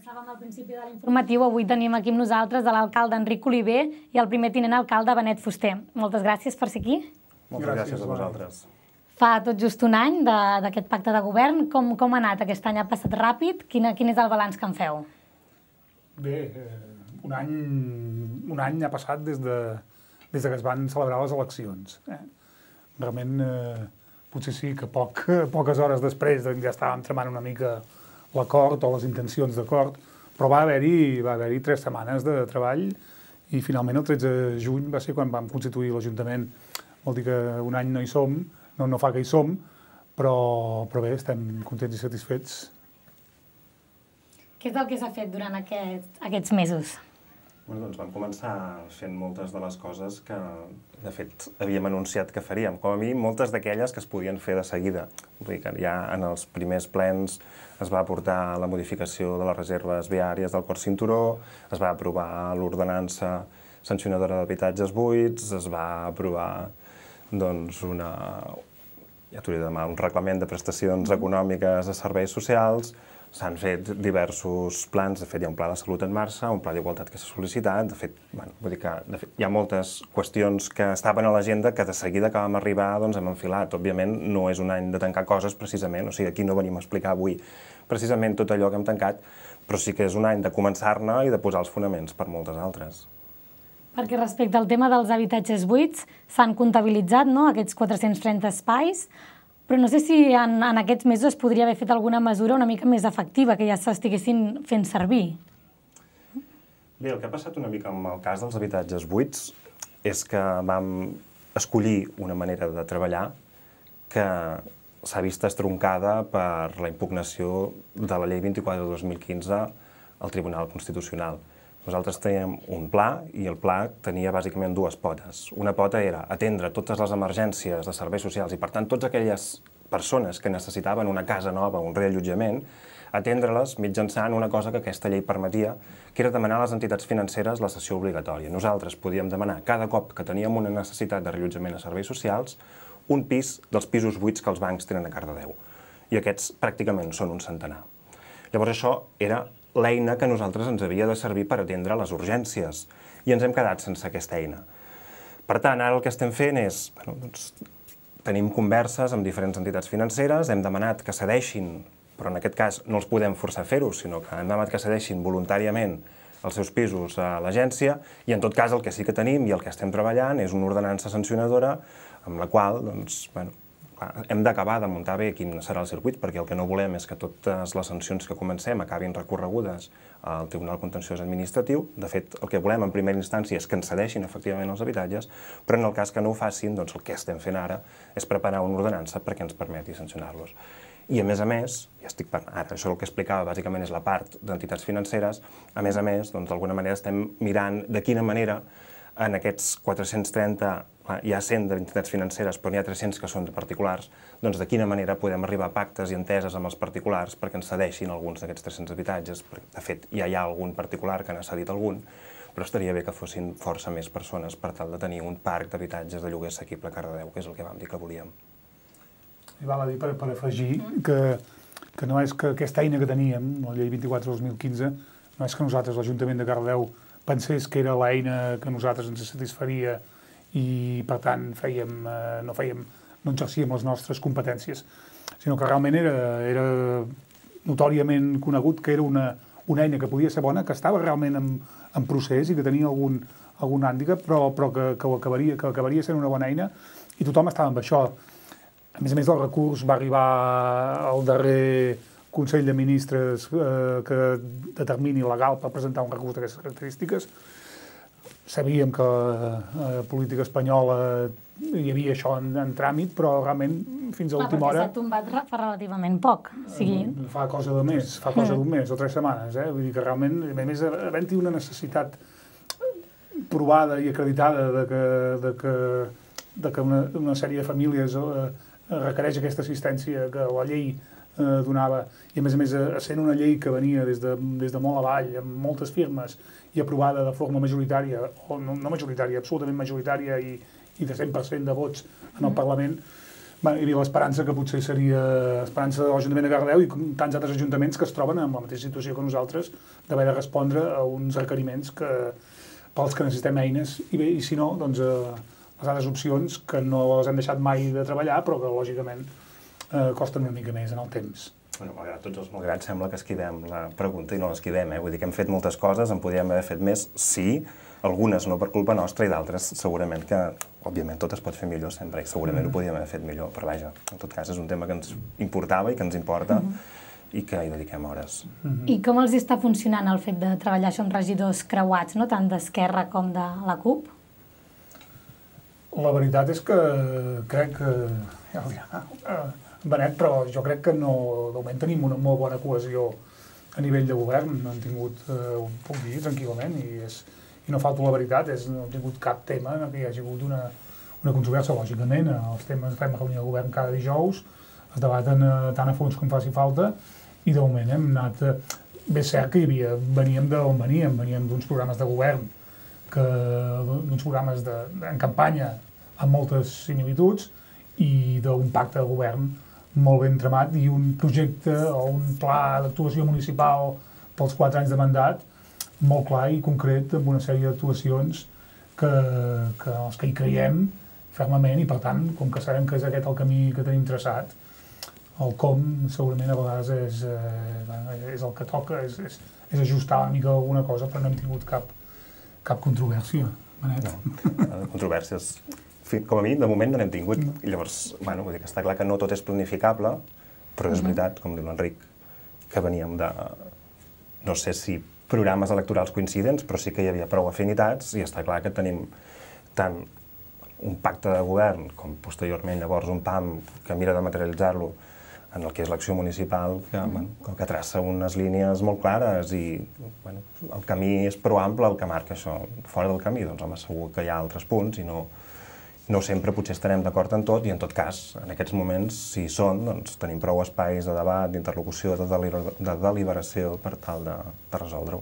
Començàvem al principi de l'informatiu. Avui tenim aquí amb nosaltres l'alcalde Enric Oliver i el primer tinent alcalde Benet Fuster. Moltes gràcies per ser aquí. Moltes gràcies a vosaltres. Fa tot just un any d'aquest pacte de govern. Com ha anat? Aquest any ha passat ràpid. Quin és el balanç que en feu? Bé, un any ha passat des que es van celebrar les eleccions. Realment, potser sí que poques hores després ja estàvem tramant una mica l'acord o les intencions d'acord, però va haver-hi 3 setmanes de treball i finalment el 13 de juny va ser quan vam constituir l'Ajuntament. Vol dir que un any no hi som, no fa que hi som, però bé, estem contents i satisfets. Què és el que s'ha fet durant aquests mesos? Doncs vam començar fent moltes de les coses que, de fet, havíem anunciat que faríem. Com a mínim, moltes d'aquelles que es podien fer de seguida. Vull dir que ja en els primers plens es va aportar la modificació de les reserves viàries del quart cinturó, es va aprovar l'ordenança sancionadora d'habitatges buits, es va aprovar doncs, un reglament de prestacions econòmiques a serveis socials. S'han fet diversos plans, de fet hi ha un pla de salut en marxa, un pla d'igualtat que s'ha sol·licitat, de fet hi ha moltes qüestions que estaven a l'agenda que de seguida que vam arribar hem enfilat. Òbviament no és un any de tancar coses precisament, o sigui, aquí no venim a explicar avui precisament tot allò que hem tancat, però sí que és un any de començar-ne i de posar els fonaments per moltes altres. Perquè respecte al tema dels habitatges buits, s'han comptabilitzat aquests 430 espais, però no sé si en aquests mesos es podria haver fet alguna mesura una mica més efectiva, que ja s'estiguessin fent servir. Bé, el que ha passat una mica amb el cas dels habitatges buits és que vam escollir una manera de treballar que s'ha vist estroncada per la impugnació de la llei 24 de 2015 al Tribunal Constitucional. Nosaltres teníem un pla i el pla tenia bàsicament 2 potes. Una pota era atendre totes les emergències de serveis socials i, per tant, totes aquelles persones que necessitaven una casa nova, un reallotjament, atendre-les mitjançant una cosa que aquesta llei permetia, que era demanar a les entitats financeres la cessió obligatòria. Nosaltres podíem demanar cada cop que teníem una necessitat de reallotjament a serveis socials un pis dels pisos buits que els bancs tenen a Cardedeu. I aquests pràcticament són un centenar. Llavors això era l'eina que a nosaltres ens havia de servir per atendre les urgències i ens hem quedat sense aquesta eina. Per tant, ara el que estem fent és, tenim converses amb diferents entitats financeres, hem demanat que cedeixin, però en aquest cas no els podem forçar a fer-ho, sinó que hem demanat que cedeixin voluntàriament els seus pisos a l'agència i en tot cas el que sí que tenim i el que estem treballant és una ordenança sancionadora amb la qual, hem d'acabar de muntar bé quin serà el circuit, perquè el que no volem és que totes les sancions que comencem acabin recorregudes al Tribunal Contenciós Administratiu. De fet, el que volem en primera instància és que ens cedeixin efectivament els habitatges, però en el cas que no ho facin, el que estem fent ara és preparar una ordenança perquè ens permeti sancionar-los. I a més, ara això el que explicava bàsicament és la part d'entitats financeres, a més, d'alguna manera estem mirant de quina manera en aquests 430, hi ha 100 d'entitats financeres, però n'hi ha 300 que són de particulars, doncs de quina manera podem arribar a pactes i enteses amb els particulars perquè ens cedeixin alguns d'aquests 300 habitatges. De fet, ja hi ha algun particular que n'ha cedit algun, però estaria bé que fossin força més persones per tal de tenir un parc d'habitatges de lloguer assequible a Cardedeu, que és el que vam dir que volíem. I val a dir, per afegir, que no és que aquesta eina que teníem, la llei 24/2015, no és que nosaltres, l'Ajuntament de Cardedeu, pensés que era l'eina que a nosaltres ens satisfaria i, per tant, no exercíem les nostres competències, sinó que realment era notòriament conegut que era una eina que podia ser bona, que estava realment en procés i que tenia algun hàndicap, però que acabaria sent una bona eina i tothom estava amb això. A més, el recurs va arribar al darrer Consell de Ministres que determini legal per presentar un recurs d'aquestes característiques. Sabíem que a política espanyola hi havia això en tràmit, però realment fins a l'última hora... Perquè s'ha tombat fa relativament poc. Fa cosa d'un mes o 3 setmanes. Vull dir que realment, a més, havent-hi una necessitat provada i acreditada de que una sèrie de famílies requereix aquesta assistència que la llei donava, i a més sent una llei que venia des de molt avall, amb moltes firmes, i aprovada de forma majoritària, o no majoritària, absolutament majoritària, i de 100% de vots en el Parlament, hi havia l'esperança que potser seria l'esperança de l'Ajuntament de Cardedeu i tants altres ajuntaments que es troben en la mateixa situació que nosaltres d'haver de respondre a uns requeriments pels que necessitem eines i si no, doncs les altres opcions que no les hem deixat mai de treballar però que lògicament costen una mica més en el temps. Bueno, malgrat tots els malgrats, sembla que esquivem la pregunta i no l'esquivem, Vull dir que hem fet moltes coses, en podríem haver fet més, sí, algunes no per culpa nostra i d'altres segurament que, òbviament, tot es pot fer millor sempre i segurament ho podríem haver fet millor, però vaja, en tot cas és un tema que ens importava i que ens importa i que hi dediquem hores. I com els està funcionant el fet de treballar això amb regidors creuats, no? Tant d'Esquerra com de la CUP? La veritat és que crec que... Benet, però jo crec que de moment tenim una molt bona cohesió a nivell de govern. No hem tingut, puc dir tranquil·lament, i no falto la veritat, no hem tingut cap tema en què hi hagi hagut una controvèrsia, lògicament. Els temes fem reunió de govern cada dijous, es debaten tant a fons com faci falta, i de moment hem anat... Bé, és cert que veníem d'on veníem d'uns programes de govern, d'uns programes en campanya amb moltes similituds, i d'un pacte de govern molt ben tramat i un projecte o un pla d'actuació municipal pels 4 anys de mandat molt clar i concret amb una sèrie d'actuacions que hi creiem fermament i per tant, com que sabem que és aquest el camí que tenim traçat, el com segurament a vegades és el que toca, és ajustar una mica alguna cosa, però no hem tingut cap controvèrsia. Benet. No, controvèrsies... Com a mi, de moment no n'hem tingut. I llavors, vull dir que està clar que no tot és planificable, però és veritat, com diu l'Enric, que veníem de, no sé si programes electorals coincidents, però sí que hi havia prou afinitats i està clar que tenim tant un pacte de govern com posteriorment llavors un PAM que mira de materialitzar-lo en el que és l'acció municipal, que traça unes línies molt clares i el camí és prou ample el que marca això. Fora del camí, doncs home, segur que hi ha altres punts i no sempre potser estarem d'acord en tot i en tot cas, en aquests moments, si hi són, doncs tenim prou espais de debat, d'interlocució, de deliberació per tal de resoldre-ho.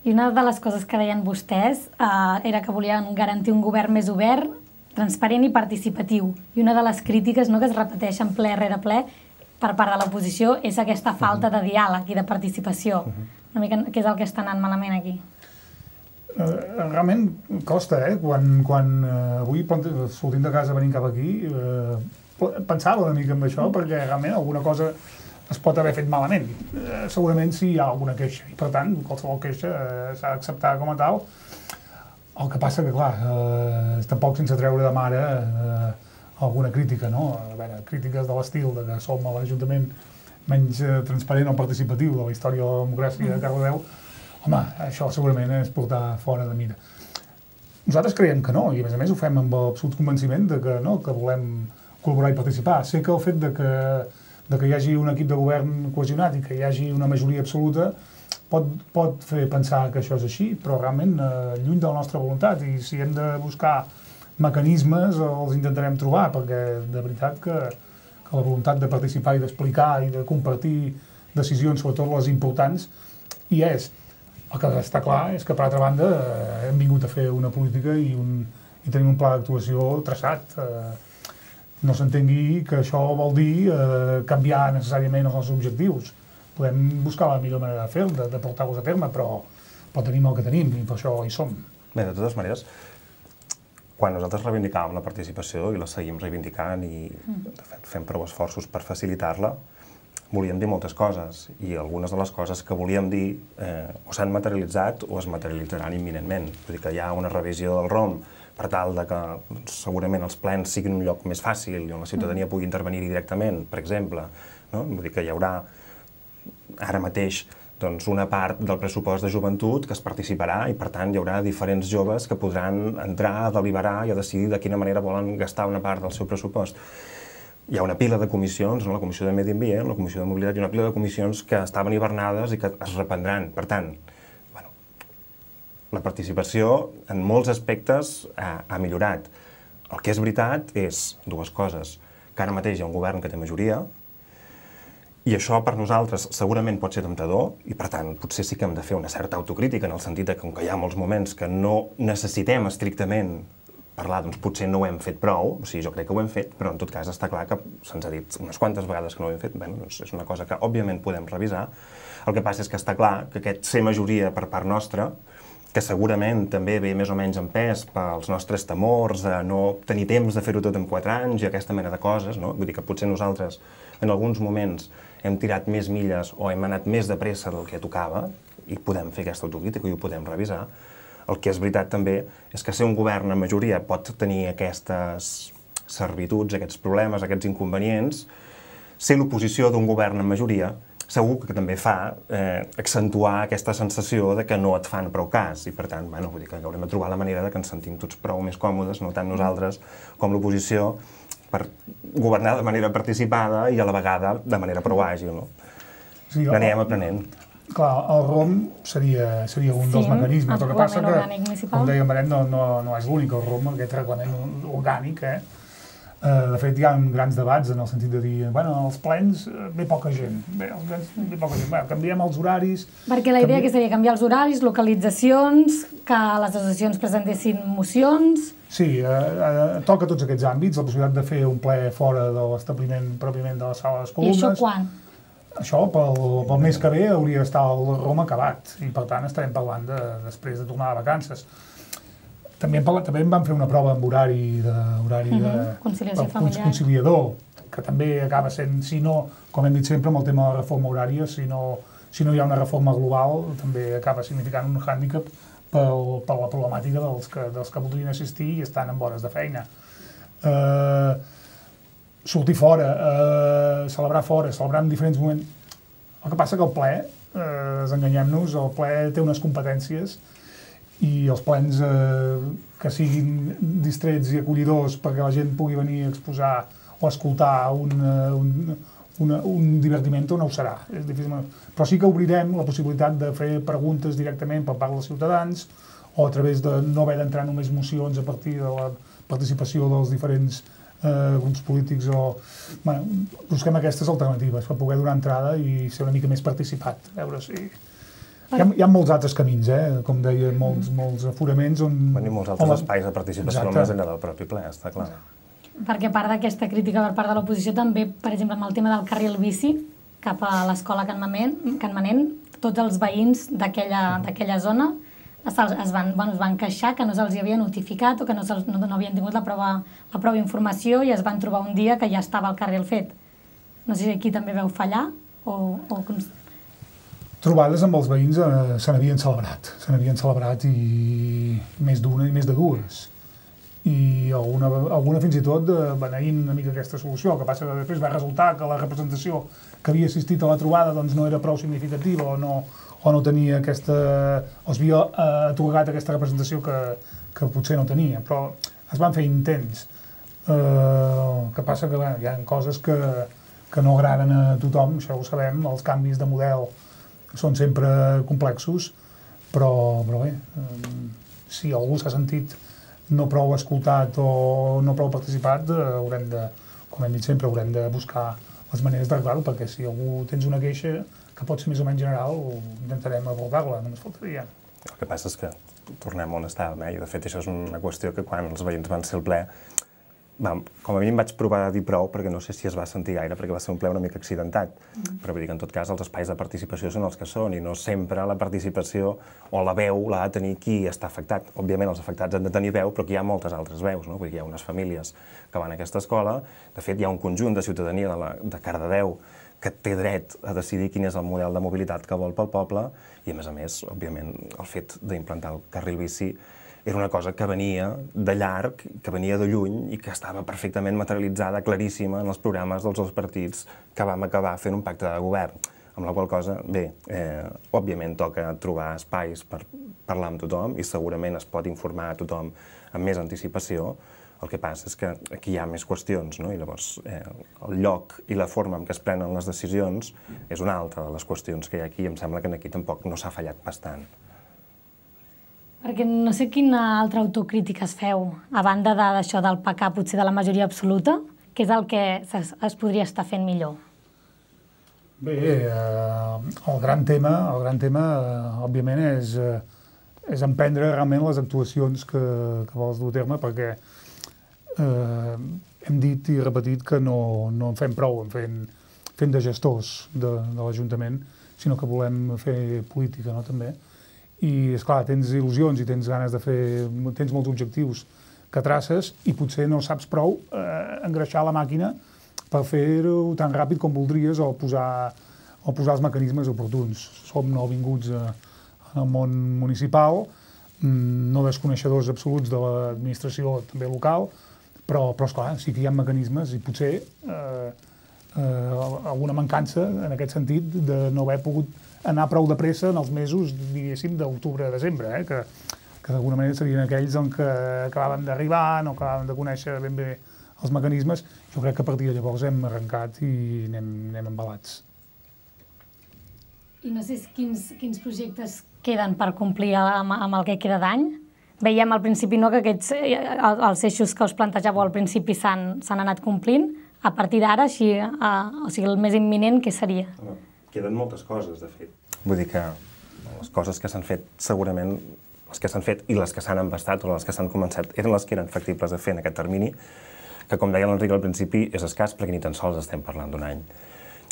I una de les coses que deien vostès era que volien garantir un govern més obert, transparent i participatiu. I una de les crítiques que es repeteixen ple rere ple per part de l'oposició és aquesta falta de diàleg i de participació. Una mica què és el que està anant malament aquí? Realment costa, quan avui sortint de casa venint cap aquí pensava una mica en això perquè realment alguna cosa es pot haver fet malament. Segurament sí hi ha alguna queixa i per tant qualsevol queixa s'ha d'acceptar com a tal. El que passa que clar, tampoc sense treure de mare alguna crítica, no? A veure, crítiques de l'estil que som l'Ajuntament menys transparent o participatiu de la història de la democràcia de Cardedeu. Home, això segurament és portar fora de mira. Nosaltres creiem que no, i a més ho fem amb absolut convenciment que volem col·laborar i participar. Sé que el fet que hi hagi un equip de govern cohesionat i que hi hagi una majoria absoluta pot fer pensar que això és així, però realment lluny de la nostra voluntat, i si hem de buscar mecanismes els intentarem trobar, perquè de veritat que la voluntat de participar i d'explicar i de compartir decisions, sobretot les importants, hi és. El que està clar és que, per altra banda, hem vingut a fer una política i tenim un pla d'actuació traçat. No s'entengui que això vol dir canviar necessàriament els nostres objectius. Podem buscar la millor manera de fer-ho, de portar-los a terme, però tenim el que tenim i per això hi som. Bé, de totes maneres, quan nosaltres reivindicàvem la participació i la seguim reivindicant i de fet fem prou esforços per facilitar-la, volíem dir moltes coses i algunes de les coses que volíem dir o s'han materialitzat o es materialitzaran imminentment. Vull dir que hi ha una revisió del ROM per tal que segurament els plens siguin un lloc més fàcil i on la ciutadania pugui intervenir directament, per exemple. Vull dir que hi haurà ara mateix una part del pressupost de joventut que es participarà i per tant hi haurà diferents joves que podran entrar a deliberar i a decidir de quina manera volen gastar una part del seu pressupost. Hi ha una pila de comissions, la Comissió de Medi Ambient, la Comissió de Mobilitat, i una pila de comissions que estaven hibernades i que es reprendran. Per tant, la participació en molts aspectes ha millorat. El que és veritat és dues coses. Que ara mateix hi ha un govern que té majoria i això per nosaltres segurament pot ser temptador i per tant potser sí que hem de fer una certa autocrítica en el sentit que com que hi ha molts moments que no necessitem estrictament parlar, doncs potser no ho hem fet prou, o sigui, jo crec que ho hem fet, però en tot cas està clar que se'ns ha dit unes quantes vegades que no ho hem fet, bé, doncs és una cosa que òbviament podem revisar. El que passa és que està clar que aquest ser majoria per part nostra, que segurament també ve més o menys en pes pels nostres temors de no tenir temps de fer-ho tot en 4 anys i aquesta mena de coses, no? Vull dir que potser nosaltres en alguns moments hem tirat més milles o hem anat més de pressa del que tocava i podem fer aquesta autocrítica i ho podem revisar. El que és veritat també és que ser un govern en majoria pot tenir aquestes servituds, aquests problemes, aquests inconvenients. Ser l'oposició d'un govern en majoria segur que també fa accentuar aquesta sensació de que no et fan prou cas i per tant, bueno, vull dir que haurem de trobar la manera de que ens sentim tots prou més còmodes, no tant nosaltres com l'oposició, per governar de manera participada i a la vegada de manera prou àgil, no? Sí, n'anem aprenent. Clar, el ROM seria un dels mecanismes. El que passa que, com deia Maret, no és l'únic, el ROM, aquest reglament orgànic, de fet, hi ha grans debats en el sentit de dir, bueno, als plens ve poca gent, canviem els horaris... Perquè la idea que seria canviar els horaris, localitzacions, que les associacions presentessin mocions... Sí, toca tots aquests àmbits, la possibilitat de fer un ple fora de l'establiment pròpiament de la sala de les columnes... I això quan? Això, pel mes que ve, hauria d'estar el ROM acabat, i per tant estarem parlant després de tornar de vacances. També en vam fer una prova amb horari conciliador, que també acaba sent, si no, com hem dit sempre amb el tema de la reforma horària, si no hi ha una reforma global, també acaba significant un hàndicap per la problemàtica dels que voldrien assistir i estan en hores de feina. Sortir fora, celebrar en diferents moments. El que passa que el ple, desenganyem-nos, el ple té unes competències i els plens que siguin distrets i acollidors perquè la gent pugui venir a exposar o escoltar un divertiment no ho serà. És difícil. Però sí que obrirem la possibilitat de fer preguntes directament per part dels ciutadans o a través de no haver d'entrar només mocions a partir de la participació dels diferents grups polítics o... Bueno, busquem aquestes alternatives per poder donar entrada i ser una mica més participat. A veure si... Hi ha molts altres camins, com deia, molts aforaments on... I molts altres espais de participació més enllà del propi ple, està clar. Perquè a part d'aquesta crítica per part de l'oposició també, per exemple, amb el tema del carril bici cap a l'escola Can Manent, tots els veïns d'aquella zona es van queixar que no se'ls havia notificat o que no havien tingut la prova informació i es van trobar un dia que ja estava el carril fet. No sé si aquí també veu fallar o... Trobades amb els veïns se n'havien celebrat i més d'una i més de dues. I alguna fins i tot beneint una mica aquesta solució. El que passa que després va resultar que la representació que havia assistit a la trobada doncs, no era prou significativa o no tenia aquesta... o es havia atorgat aquesta representació que potser no tenia. Però es van fer intents. El que passa que hi ha coses que no agraden a tothom, això ho sabem, els canvis de model són sempre complexos, però bé, si algú s'ha sentit no prou escoltat o no prou participat, haurem de, com hem dit sempre, haurem de buscar les maneres d'arreglar-ho, perquè si algú tens una queixa que pot ser més o menys general, intentarem abordar-la, només faltaria. El que passa és que tornem on estàvem, i de fet això és una qüestió que quan els veïns van ser al ple, com a mi em vaig provar de dir prou, perquè no sé si es va sentir gaire, perquè va ser un ple una mica accidentat, però vull dir que en tot cas els espais de participació són els que són i no sempre la participació o la veu l'ha de tenir qui està afectat. Òbviament els afectats han de tenir veu, però aquí hi ha moltes altres veus, no? Vull dir que hi ha unes famílies que van a aquesta escola, de fet hi ha un conjunt de ciutadania de Cardedeu que té dret a decidir quin és el model de mobilitat que vol pel poble i a més, òbviament, el fet d'implantar el carril bici era una cosa que venia de llarg, que venia de lluny i que estava perfectament materialitzada, claríssima, en els programes dels dos partits que vam acabar fent un pacte de govern. Amb la qual cosa, bé, òbviament toca trobar espais per parlar amb tothom i segurament es pot informar a tothom amb més anticipació. El que passa és que aquí hi ha més qüestions, no? I llavors el lloc i la forma en què es prenen les decisions és una altra de les qüestions que hi ha aquí i em sembla que aquí tampoc no s'ha fallat bastant. Perquè no sé quina altra autocrítica es feu, a banda d'això del pecar potser de la majoria absoluta, que és el que es podria estar fent millor. Bé, el gran tema, òbviament, és emprendre realment les actuacions que vols dur a terme, perquè hem dit i repetit que no en fem prou fent de gestors de l'Ajuntament, sinó que volem fer política, no, també. I, esclar, tens il·lusions i tens ganes de tens molts objectius que traces i potser no saps prou engreixar la màquina per fer-ho tan ràpid com voldries o posar els mecanismes oportuns. Som nouvinguts en el món municipal, no desconeixedors absoluts de l'administració també local, però esclar, sí que hi ha mecanismes i potser alguna mancança en aquest sentit de no haver pogut anar prou de pressa en els mesos, diguéssim, d'octubre a desembre, que d'alguna manera serien aquells en què acabaven d'arribar, no acabaven de conèixer ben bé els mecanismes. Jo crec que a partir de llavors hem arrencat i anem embalats. I no sé quins projectes queden per complir amb el que queda d'any. Veiem al principi que els eixos que us plantejàveu al principi s'han anat complint. A partir d'ara, o sigui, el més imminent, què seria? Queden moltes coses, de fet. Vull dir que les coses que s'han fet, segurament, les que s'han fet i les que s'han embastat o les que s'han començat, eren les que eren factibles de fer en aquest termini, que, com deia l'Enric al principi, és escàs perquè ni tan sols estem parlant d'un any.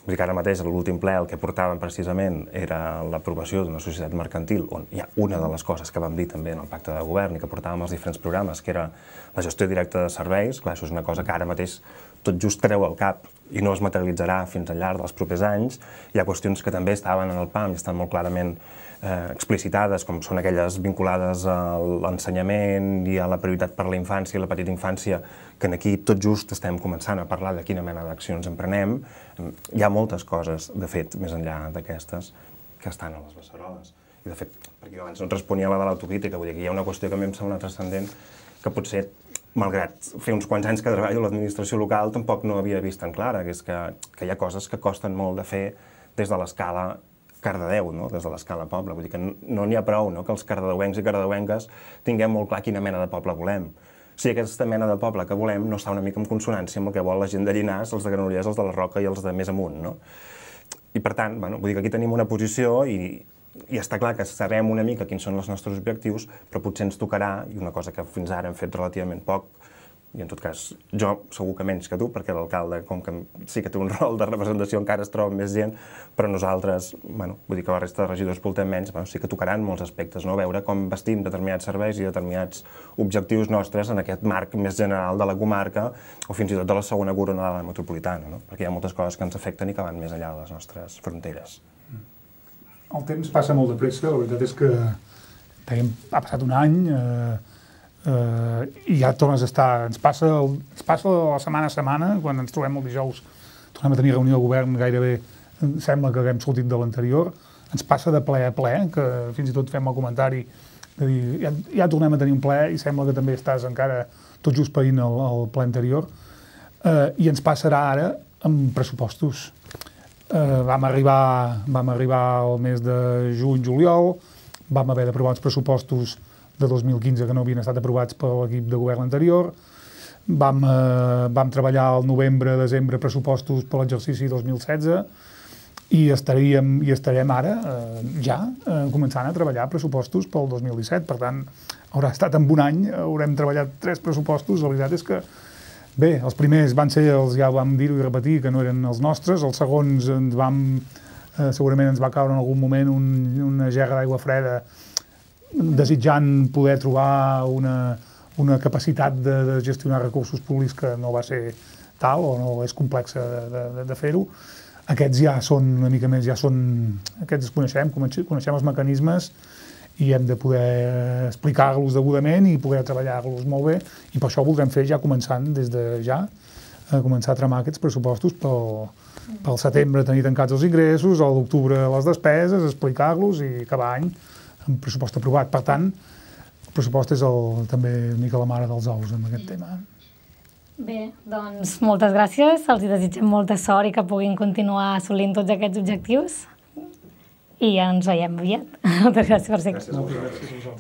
Vull dir que ara mateix, a l'últim ple, el que portàvem precisament era l'aprovació d'una societat mercantil, on hi ha una de les coses que vam dir també en el pacte de govern i que portàvem als diferents programes, que era la gestió directa de serveis. Clar, això és una cosa que ara mateix tot just treu al cap i no es materialitzarà fins al llarg dels propers anys. Hi ha qüestions que també estaven en el PAM i estan molt clarament explicitades, com són aquelles vinculades a l'ensenyament i a la prioritat per la infància i la petita infància, que aquí tot just estem començant a parlar de quina mena d'accions emprenem. Hi ha moltes coses, de fet, més enllà d'aquestes, que estan a les beceroles. I, de fet, perquè abans no et responia a la de l'autocrítica, vull dir que hi ha una qüestió que a mi em sembla transcendent, que potser, malgrat fer uns quants anys que treballo a l'administració local, tampoc no havia vist tan clara, que és que hi ha coses que costen molt de fer des de l'escala Cardedeu, des de l'escala poble. Vull dir que no n'hi ha prou que els cardedeuencs i cardedeuenques tinguem molt clar quina mena de poble volem. Si aquesta mena de poble que volem no està una mica en consonància amb el que vol la gent de Llinars, els de Granollers, els de la Roca i els de més amunt. I per tant, vull dir que aquí tenim una posició i està clar que sabem una mica quins són els nostres objectius, però potser ens tocarà, i una cosa que fins ara hem fet relativament poc, i en tot cas jo segur que menys que tu, perquè l'alcalde, com que sí que té un rol de representació, encara es troba més gent, però nosaltres, vull dir que la resta de regidors portem menys, sí que tocaran molts aspectes, veure com vestim determinats serveis i determinats objectius nostres en aquest marc més general de la comarca o fins i tot de la segona coronada metropolitana, perquè hi ha moltes coses que ens afecten i que van més enllà de les nostres fronteres. El temps passa molt de pressa, la veritat és que ha passat un any, i ja tornes a estar, ens passa la setmana a setmana, quan ens trobem el dijous, tornem a tenir reunió de govern, gairebé sembla que haguem sortit de l'anterior, ens passa de ple a ple, que fins i tot fem el comentari de dir, ja tornem a tenir un ple i sembla que també estàs encara tot just païnt el ple anterior, i ens passarà ara amb pressupostos. Vam arribar al mes de juny-juliol, vam haver d'aprovar uns pressupostos de 2015 que no havien estat aprovats per l'equip de govern anterior. Vam treballar al novembre-desembre pressupostos per l'exercici 2016 i estarem ara ja començant a treballar pressupostos pel 2017. Per tant, haurà estat en un any, haurem treballat 3 pressupostos. La veritat és que, bé, els primers van ser, ja vam dir-ho i repetir, que no eren els nostres. Els segons segurament ens va caure en algun moment una gerra d'aigua freda desitjant poder trobar una capacitat de gestionar recursos públics que no va ser tal o no és complexa de fer-ho. Aquests ja són una mica més, aquests els coneixem els mecanismes i hem de poder explicar-los degudament i poder treballar-los molt bé i per això ho voldrem fer ja començant des de ja, començar a tramar aquests pressupostos pel setembre tenir tancats els ingressos, a l'octubre les despeses, explicar-los i acabar any amb pressupost aprovat. Per tant, el pressupost és també una mica la mare dels ous en aquest tema. Bé, doncs moltes gràcies, els desitgem molta sort i que puguin continuar assolint tots aquests objectius i ens veiem aviat. Moltes gràcies per ser aquí. Gràcies a vosaltres.